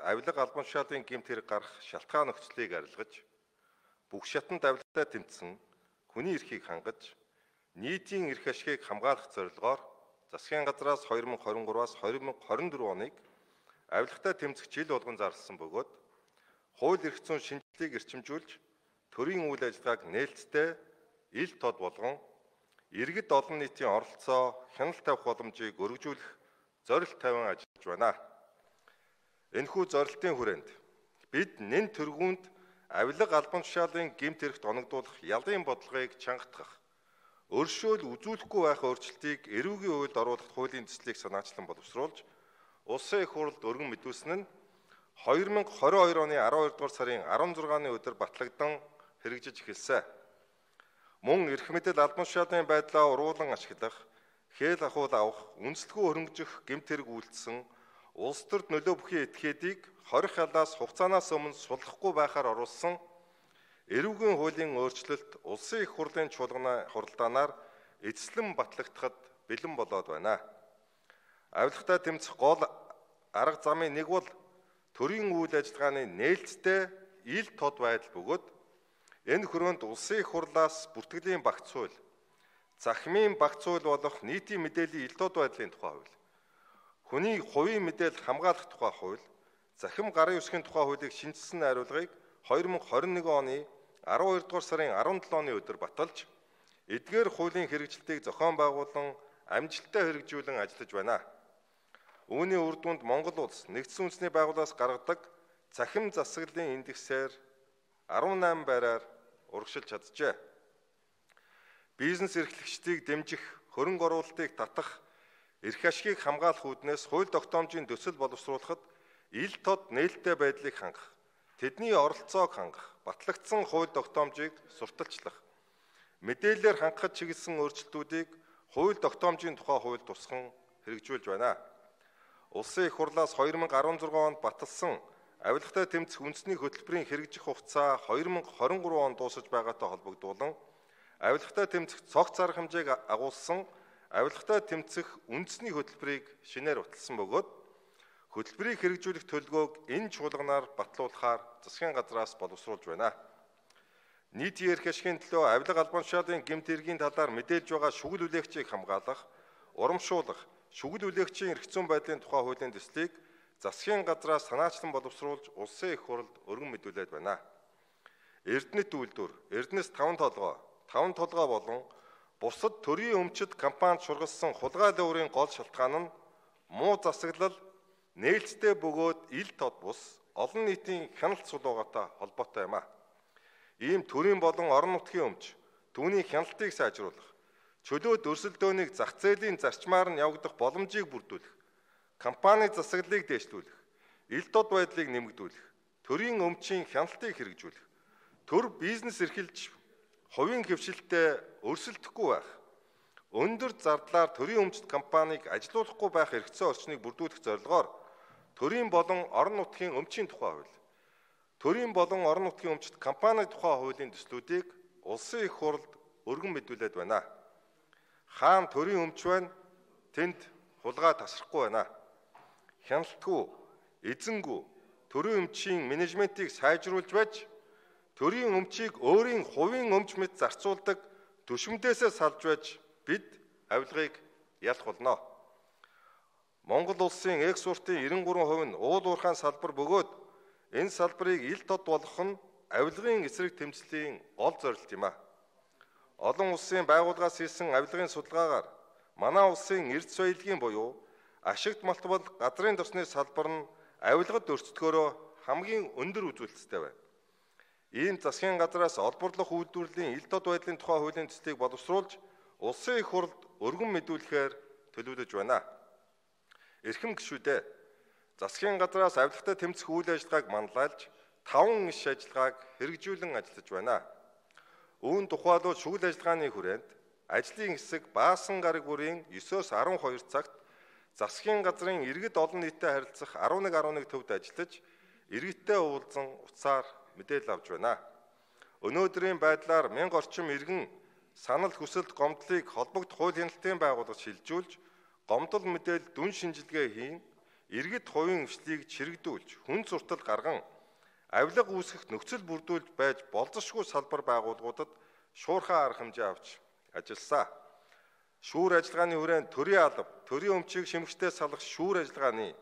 авилга албан тушаалын гэмт хэрэг гарах шалтгаан нөхцөлийг арилгаж, бүх шатанд авилгатай тэмцсэн хүний эрхийг хангаж, нийтийн эрх ашгийг хамгаалах зорилгоор засгийн газраас 2023-аас 2024 оныг авилгатай тэмцэх жил болгон зарласан бөгөөд хууль эрх зүйн шинжилгээг эрчимжүүлж, төрийн үйл ажиллагааг нээлттэй, ил тод болгон иргэд олон нийтийн оролцоо, хяналт тавих боломжийг өргөжүүлэх зорилт тавин ажиллаж байна. Энэхүү зорилтын хүрээнд бид нэн тэргуунд авилга албан тушаалын гэмт хэрэгт оногдуулах ялын бодлогыг чангатгах, өршөөл үзүүлэхгүй байх өөрчлөлтийг эрүүгийн хуульд оруулах хуулийн төслийг санаачлан боловсруулж, Улсын их хурлд өргөн мэдүүлсэн нь 2022 оны 12 дугаар сарын 16-ны өдөр батлагдсан хэрэгжиж эхэлсэн. Мөн эрх мэдэл албан тушаалын байдлаа уруулан ашиглах, хэл ахуйл авах, үнэлэлгүй хөрөнгөжих гэмт хэрэг үйлдсэн улс төрд нөлөө бүхий этгээдийг 20 хялаас хугацаанаас өмнө суллахгүй байхаар оруулсан эрүүгийн хуулийн өөрчлөлт Улсын их хурлын хуралдаанаар эзэслэн батлагдахад бэлэн болоод байна. Авилгатай тэмцэх гол арга замын нэг бол төрийн үйл ажиллагааны нээлттэй ил тод байдал бөгөөд энэ хүрээнд Улсын их хурлаас бүртгэлийн багц хууль, захимын багц хууль болох нийтийн мэдээллийн ил тод байдлын тухай хууль, хүний хувийн мэдээлэл хамгаалах тухай хууль, захим гарын үсгийн тухай хуулийг шинжилсэн найруулгыг 2021 оны 12 дугаар сарын 17-ны өдөр баталж, эдгээр хуулийн хэрэгжилтийг зохион байгуулан амжилттай хэрэгжүүлэн ажиллаж байна. Үүний үр дүнд Монгол улс нэгдсэн үндэсний байгууллагаас гаргадаг захим засаглалын индексээр 18 байраар урагшилж чаджээ. Бизнес эрхлэгчдийг дэмжих, хөрөнгө оруулалтыг татах, эрх ашгийг хамгаалах үүднээс хууль тогтоомжийн төсөл боловсруулахад ил тод нээлттэй байдлыг хангах, тэдний оролцоог хангах, батлагдсан хууль тогтоомжийг сурталчлах, мэдээлэлээр хангахад чиглэсэн өөрчлөлтүүдийг хууль тогтоомжийн тухай хууль тусган хэрэгжүүлж байна. Улсын их хурлаас 2016 онд баталсан авилгатай тэмцэх үндэсний хөтөлбөрийн хэрэгжих хугацаа 2023 онд дуусаж байгаатай холбогдуулан авилгатай тэмцэх цогц арга хэмжээг агуулсан авилгатай тэмцэх үндэсний хөтөлбөрийг шинээр баталсан бөгөөд хөтөлбөрийг хэрэгжүүлэх төлөвлөгөөг энэ чуулганаар батлуулахаар засгийн газраас боловсруулж байна. Нийтийн эрх ашигын төлөө авилга албан тушаалын гэмт хэргийн талаар мэдээлж байгаа шүгэл үлээгчийг хамгаалах, урамшуулах, шүгэл үлээгчийн эрх зүйн байдлын тухай хуулийн төслийг засгийн газраас санаачлан боловсруулж Улсын их хурлд өргөн мэдүүлээд байна. Эрдэнэт үйлдвэр, Эрдэнэс 5 толгой болон бусад төрийн өмчит компанид шургалсан хулгайлын үрийн гол шалтгаан нь муу засаглал, нээлттэй бөгөөд ил тод бус, олон нийтийн хяналт сулуугатай холбоотой юм а. Ийм төрийн болон орон нутгийн өмч, түүний хяналтыг сайжруулах, чөлөөт өрсөлдөөнийг зах зээлийн зарчмаар нь явагдах боломжийг бүрдүүлэх, компани засаглалыг дээшлүүлэх, ил тод байдлыг нэмэгдүүлэх, төрийн өмчийн хяналтыг хэрэгжүүлэх, төр бизнес эрхэлж хувийн хөвшилтэй өрсөлдөхгүй байх, өндөр зардлаар төрийн өмчит компанийг ажилуулахгүй байх эрхцээ орчныг бүрдүүлэх зорилгоор төрийн болон орон нутгийн өмчийн тухай хууль, төрийн болон орон нутгийн өмчит компани тухай хуулийн төслүүдийг Улсын их хурлд өргөн мэдүүлээд байна. Хаана төрийн өмч байна, тэнд хулгай тасрахгүй байна. Хяналтгүй, эзэнгүй, төрийн өмчийн менежментийг сайжруулж байж, төрийн өмчийг өөрийн хувийн өмч мэт зарцуулдаг түшмдээсээ салж байж бид авилгыг ялах болно. Монгол улсын экспортын 93% нь уул уурхайн салбар бөгөөд энэ салбарыг ил тод болгох нь авилгын эсрэг тэмцлийн гол зорилт юм а. Олон улсын байгууллагаас хийсэн авилгын судалгаагаар манай улсын эрдэс соёлын буюу ашигт малтбал газрын тосны салбар нь авилгад өрсөлдөхөөрөө хамгийн өндөр үзүүлэлттэй байна. Ийм засгийн газраас олборлох үйлдвэрлэлийн ил тод байдлын тухай хуулийн төслийг боловсруулж Улсын их хурлд өргөн мэдүүлэхээр төлөвлөж байна. Эрхэм гишүүдээ, засгийн газраас авилгатай тэмцэх үйл ажиллагааг манлайлж 5 иш ажиллагааг хэрэгжүүлэн ажиллаж байна. Үүн тухайлбал шүгэл ажиллагааны хүрээнд ажлын хэсэг Баасан гараг бүрийн 9-оос 12 цагт засгийн газрын иргэд олон нийтэд харилцах 11 төвд ажиллаж, иргэдтэй уулзан утсаар мэдээлэл авч байна. Өнөөдрийн байдлаар 1000 орчим иргэн санал хүсэлт гомдлыг холбогд хууль хяналтын байгууллагад шилжүүлж, гомдол мэдээлэл дүн шинжилгээ хийн, иргэд хувийн эвшлийг чирэгдүүлж, хүн зуртал гарган, авилга үүсгэх нөхцөл бүрдүүлж байж болзошгүй салбар байгууллагуудад шуурхай арга хэмжээ авч ажилласан. Шүүр ажиллагааны хүрээнд төрийн алба, төрийн өмчийг шимэгчтэй салгах шүүр ажиллагааны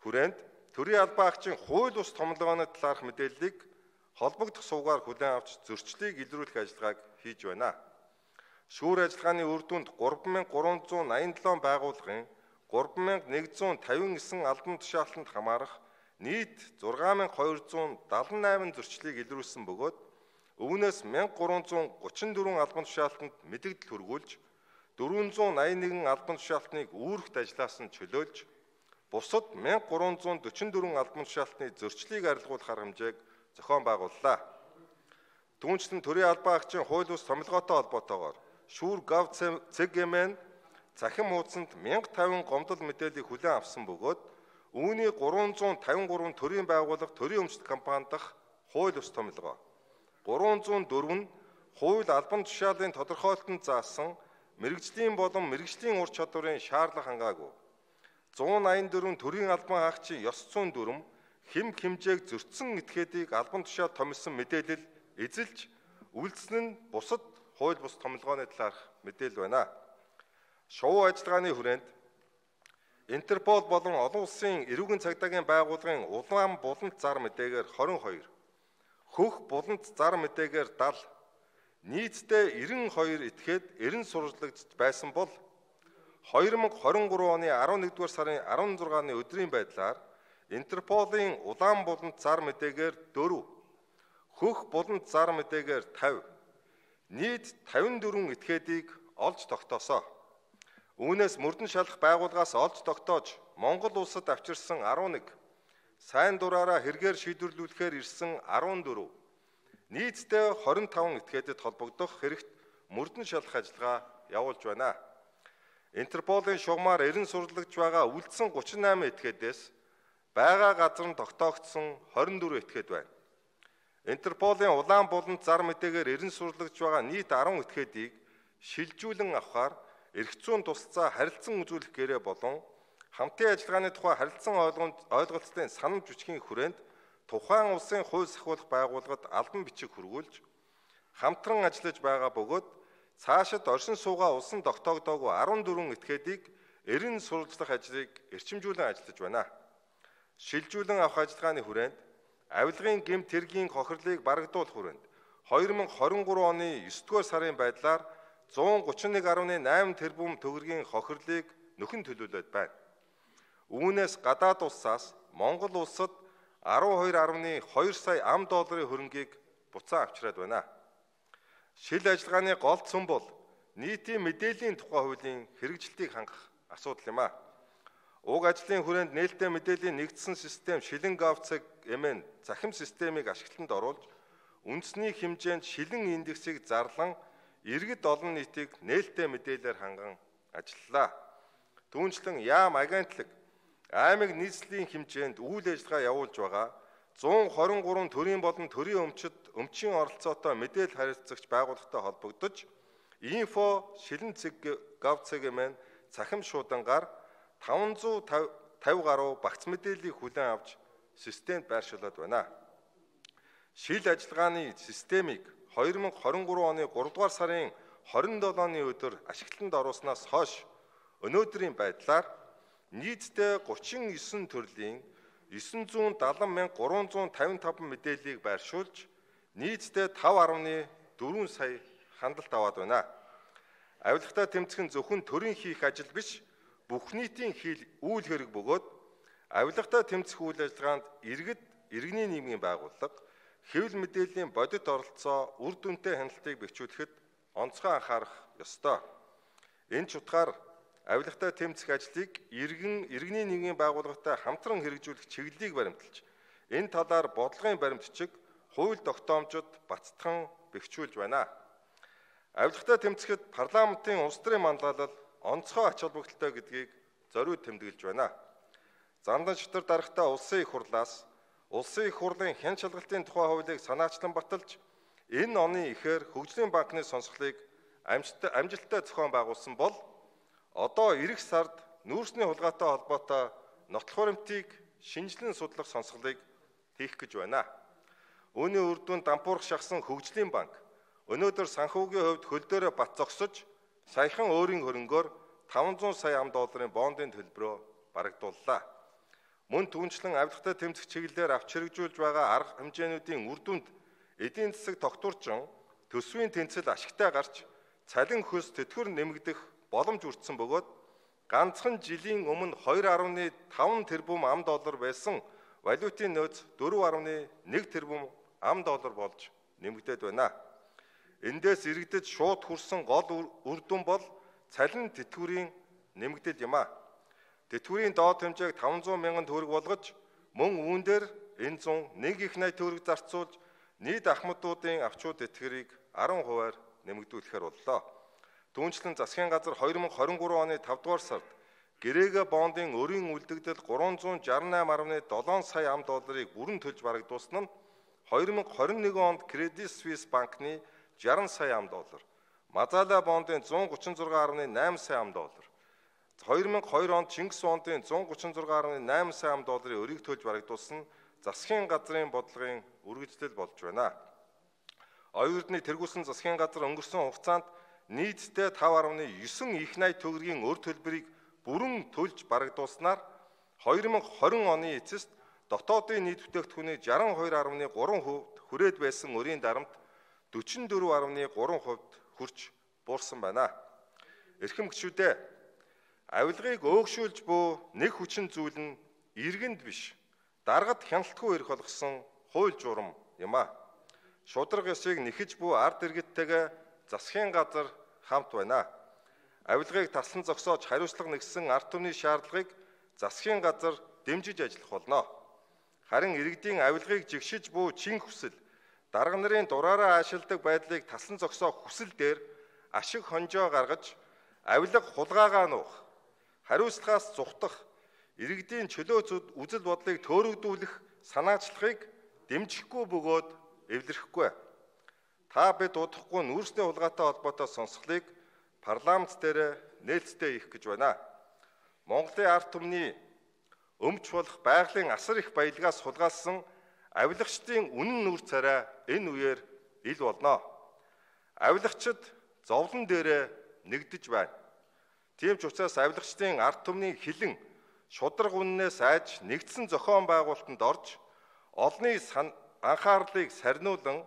хүрээнд төрийн албаагчийн хууль бус томилгооны талаарх мэдээллийг холбогдох сувгаар хүлээн авч зөрчлийг илрүүлэх ажиллагааг хийж байна. Шүүр ажиллагааны үр дүнд 3387 байгууллагын 3159 албан тушаалтанд хамаарах нийт 6278 зөрчлийг илрүүлсэн бөгөөд үүнээс 1334 албан тушаалтанд мэдэгдэл хүргүүлж 481 албан тушаалтныг үүрэгт ажиллаас нь чөлөөлж бусад 1344 албан тушаалтны зөрчлийг арилгуулах арга хэмжээг зохион байгууллаа. Түүнчлэн төрийн албаагчийн хууль бус томилгоотой холбоотойгоор шүүр Gov.cg-ийн захин хуудсанд 1050 гомдол мэдээллийг хүлээн авсан бөгөөд үүний 353 төрийн байгууллага төрийн өмчт компани дахь хууль бус томилгоо, 304 нь хууль албан тушаалын тодорхойлолтод заасан мэрэгжлийн болон мэрэгжлийн ур чадварын шаардлага хангаагүй, 184 төрийн албан хаагчийн ёс зүйн дүрм хэм хэмжээг зөрчсөн этгээдийг албан тушаал томилсон мэдээлэл эзэлж үйлдсэн нь бусад хууль бус томилгооны талаарх мэдээлэл байна. Шувуу ажиллагааны хүрээнд Интерпол болон олон улсын эрүүгийн цагдаагийн байгууллагын улаан булант зар мэдээгээр 22, хөх булант зар мэдээгээр 70, нийтдээ 92 этгээд эрен сурвалжлагч байсан бол 2023 оны 11-р сарын 16-ны өдрийн байдлаар Интерполын улаан булант зар мэдээгээр 4, хөх булант зар мэдээгээр 50, нийт 54 этгээдийг олж тогтоосоо. Үүнээс мөрдөн шалах байгууллагаас олж тогтоож Монгол улсад авчирсан 11, сайн дураараа хэрэгээр шийдвэрлүүлэхээр ирсэн 14, нийтдээ 25 этгээдэд холбогдох хэрэгт мөрдөн шалах ажиллагаа явуулж байна. Интерполын шугамар эрен сурвалжлагч байгаа үлдсэн 38 этгээдээс байгаа газар нь тогтоогдсон 24 этгээд байна. Интерполын улаан булант зар мэдээгээр эрен сурвалжлагч байгаа нийт 10 этгээдийг шилжүүлэн авахаар эрх зүйн тусалцаа харилцан үзүүлэх гэрээ болон хамтын ажиллагааны тухай харилцан ойлголцлын санамж бичгийн хүрээнд тухайн улсын хууль сахиулах байгууллагад албан бичиг хүргүүлж хамтран ажиллаж байгаа бөгөөд цаашид оршин суугаа улсын тогтоогдоогүй 14 этгээдийг эрен сурвалжлах ажлыг эрчимжүүлэн ажиллаж байна. Шилжүүлэн авах ажиллагааны хүрээнд авилгын гэмт хэргийн хохирлыг барагдуулах хүрээнд 2023 оны 9-р сарын байдлаар 131.8 тэрбум төгрөгийн хохирлыг нөхөн төлөвлөд байна. Үүнээс гадаад улсаас Монгол улсад 12.2 сая $, хөрөнгийг буцаан авчираад байна. Шил ажиллагааны гол цөм бол нийтийн мэдээллийн тухай хуулийн хэрэгжилтийг хангах асуудал юм а. Уг ажлын хүрээнд нээлттэй мэдээллийн нэгдсэн систем шилэн Gov.cg-ийн захим системийг ашиглалтанд оруулж үндэсний хэмжээнд шилэн индексийг зарлан иргэд олон нийтийг нээлттэй мэдээлэлээр ханган ажиллалаа. Түүнчлэн яам агентлаг аймаг нийслэлийн хэмжээнд үйл ажиллагаа явуулж байгаа 123 төрийн болон төрийн өмчийн оролцоотой мэдээлэл харилцагч байгууллагатай холбогдож инфо шилэн Gov.cg-ийн цахим шуудангаар 550 гаруй багц мэдээллийг хүлээн авч системд байршуулад байна. Шил ажиллагааны системийг 2023 оны 3-р сарын 27-ны өдөр ашиглалтанд оруулснаас хойш өнөөдрийн байдлаар нийтдээ 39 төрлийн 970,355 мэдээллийг байршуулж нийтдээ 5.4 сая хандлалт аваад байна. Авилгатай тэмцэх нь зөвхөн төрийн хийх ажил биш, бүх нийтийн үйл хэрэг бөгөөд авилгатай тэмцэх үйл ажиллагаанд иргэний нийгмийн байгууллага хэвлэл мэдээллийн бодит оролцоо үр дүнтэй хяналтыг бэхжүүлэхэд онцгой анхаарах ёстой. Энэ ч утгаар авилгатай тэмцэх ажлыг иргэний нийгмийн байгууллагатай хамтран хэрэгжүүлэх чиглэлийг баримталж, энэ талаар бодлогын баримтчиг хууль тогтоомжид бацтхан бэхжүүлж байна. Авилгатай тэмцэхэд парламентын улс төрийн манлайлал онцгой ач холбогдолтой гэдгийг зориуд тэмдэглэж байна. Зандан шатар дарагтай улсын их хурлаас Улсын их хурлын хэн шалгалтын тухай хуулийг санаачлан баталж, энэ оны эхээр хөгжлийн банкны сонсголыг амжилттай зохион байгуулсан бол одоо эх сард нүүрсний хулгайтай холбоотой нотлох баримтыг шинжилэн судлах сонсголыг хийх гэж байна. Үүний үр дүнд Дампуурх шахсан хөгжлийн банк өнөөдөр санхүүгийн хувьд хөл дээрээ бат зогсож саяхан өөрийн хөрөнгөөр 500 сая $5 бондын төлбөрөө барагдууллаа. Мөн түүнчлэн авилгатай тэмцэх чиглэлээр авч хэрэгжүүлж байгаа арга хэмжээнүүдийн үр дүнд эдийн засаг тогтворчин төсвийн тэнцэл ашигтай гарч цалин хөлс тэтгэвэр нэмэгдэх боломж өртсөн бөгөөд ганцхан жилийн өмнө 2.5 тэрбум $5 байсан валютын нөөц 4.1 тэрбум $5 болж нэмэгдээд байна. Эндээс иргэдэд шууд хүрсэн гол үр дүн бол цалин тэтгэврийн нэмэгдэл юм а. Тэтгэврийн доод хэмжээг 500 мянган төгрөг болгож мөн үүн дээр энэ 101 их найт төгрөг зарцуулж нийт ахмадуудын авчууд тэтгэврийг 10%-аар нэмэгдүүлэхээр боллоо. Түүнчлэн засгийн газар 2023 оны 5 дугаар сард гэрээгээ бондын өрийн үлдэгдэл 368.7 сая $5-ыг бүрэн төлж барагдуулсан нь 2021 онд Credit Suisse банкны 60 сая $5, Мазала бондын 136.8 сая $, 2002 онд Чингис бондын 136.8 сая $-ын өрийг төлж барагдуулсан засгийн газрын бодлогын үргэлжлэл болж байна. Оюун эрдний тэргүүлсэн засгийн газар өнгөрсөн хугацаанд нийтдээ 5.9 их найт төгрөгийн өр төлбөрийг бүрэн төлж барагдуулснаар 2020 оны эцэст дотоодын нийт бүтээгдэхүүний 62.3% хүрээд байсан өрийн дарамт 44.3% хүрч буурсан байна. Эрхэм гишүүдээ, авилгыг өөгшүүлж буй нэг хүчин зүйл нь иргэнд биш, даргад хяналтгүй эрх болгосон хууль журам юм а. Шудраг ёсыг нэхэж буй ард иргэдтэйгээ засгийн газар хамт байна. Авилгыг таслан зогсоож хариуцлага нэгсэн ард түмний шаардлагыг засгийн газар дэмжиж ажиллах болно. Харин иргэдийн авилгыг жигшиж буй чин хүсэл, дарга нарын дураараа аашилдаг байдлыг таслан зогсоох хүсэл дээр ашиг хонжоо гаргаж, авилга хулгайгаа нуух, хариуцлагаас зүхтах, иргэдийн чөлөө үзэл бодлыг төөрөгдүүлэх санаачлагыг дэмжихгүй бөгөөд эвлэрэхгүй. Та бид удахгүй нүүрсний хулгайтай холбоотой сонсголыг парламент дээр нээлттэй хийх гэж байна. Монголын ард түмний өмч болох байгалийн асар их баялгаас хулгайлсан авилагчдын үнэн нүүр царай энэ үеэр ил болно. Авилагчид зовлон дээрээ нэгдэж байна. Тийм ч учраас авилагчдын ард түмний хилэн шудраг үннээс айж нэгдсэн зохион байгуулалтанд орж олонний анхаарлыг сарниулан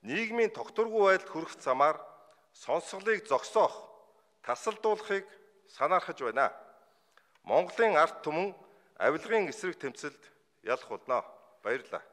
нийгмийн тогтворгүй байдалд хүрэх замаар сонсголыг зогсоох, тасалдуулахыг санаархаж байна. Монголын ард түмэн авилгын эсрэг тэмцэлд ялах болно. Баярлалаа.